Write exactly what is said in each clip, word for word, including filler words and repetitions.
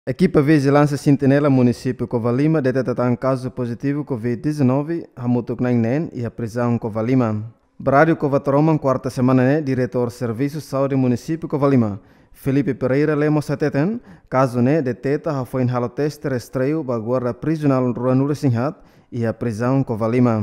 Ekipa Vijilánsia Sentinela Munisípiu Covalima deteta tan kazu pozitivu covid dezanove hamutuk na'in neen iha prizaun Covalima. Ba Rádiu Cova Taroman, kuarta semana ne'e, Diretór Servisu Saúde Munisípiu Covalima, Felipe Pereira Lemos hateten, kazu ne'e deteta hafoin halo teste rastreiu ba guarda prizionál ruanulu-resin-haat iha prizaun Covalima.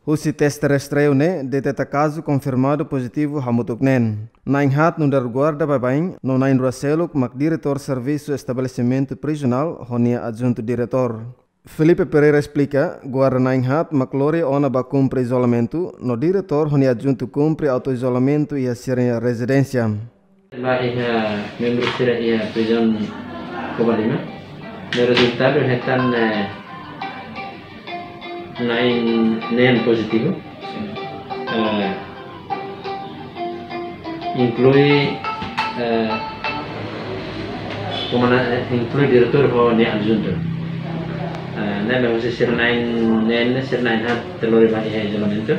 Husi teste rastreiu ne'e deteta kazu konfirmadu pozitivu hamutuk neen. Na'in-haat nu'udar guarda baibain no na'in-rua seluk mak diretór servisu estabelesimentu prizionál ho nia adjuntu diretór. Felipe Pereira esplika, guarda na'in-haat mak lori ona ba kumpre izolamentu, no diretór ho nia adjuntu kumpre autoizolamentu iha sira-nia rezidénsia. Ba iha membru sira iha prizaun Covalima, no rezultadu hetan, eh, na'in neen pozitivu. Eh, inklui, eh, komanda-, eh, inklui diretór ho nia adjuntu. Eh, ne'ebé husi sira na'in neen ne'e, sira na'in-haat lori ba iha izolamentu.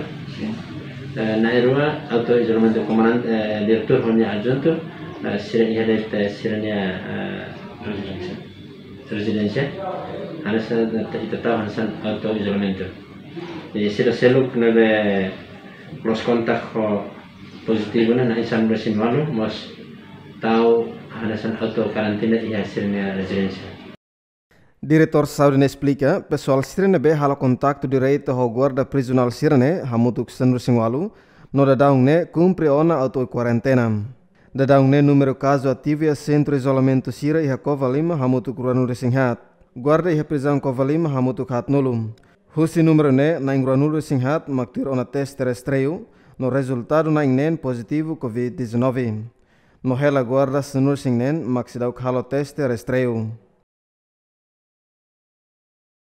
Eh, na'in-rua auto izolamentu, komandante, eh, diretór ho nia adjuntu, eh, sira iha de'it, eh, sira-nia, eh, rezidénsia. Rezidénsia. Hanesan, eh, ita tau hanesan auto izolamentu. Jadi sira seluk ne'ebé close contact ho pozitivu ne'e na'in sanulu-resin-ualu, mós tau hanesan auto karantina iha sira-nia rezidénsia. Diretór Saúde ne'e esplika, pesoál sira ne'ebé halo kontaktu diretu ho guarda prizionál sira-ne'e hamutuk sanulu-resin-ualu, no daudaun ne'e kumpre ona auto kuarentena. Daudaun ne'e númeru kazu ativu iha sentru izolamentu sira iha Covalima hamutuk ruanulu-resin-haat. Guarda iha prizaun Covalima hamutuk haatnulu. Husi númeru ne'e na'in ruanulu-resin-haat mak tuir ona teste rastreiu, no rezultadu na'in neen pozitivu covid dezanove. No hela guarda sanulu-resin-neen mak seidauk halo teste rastreiu.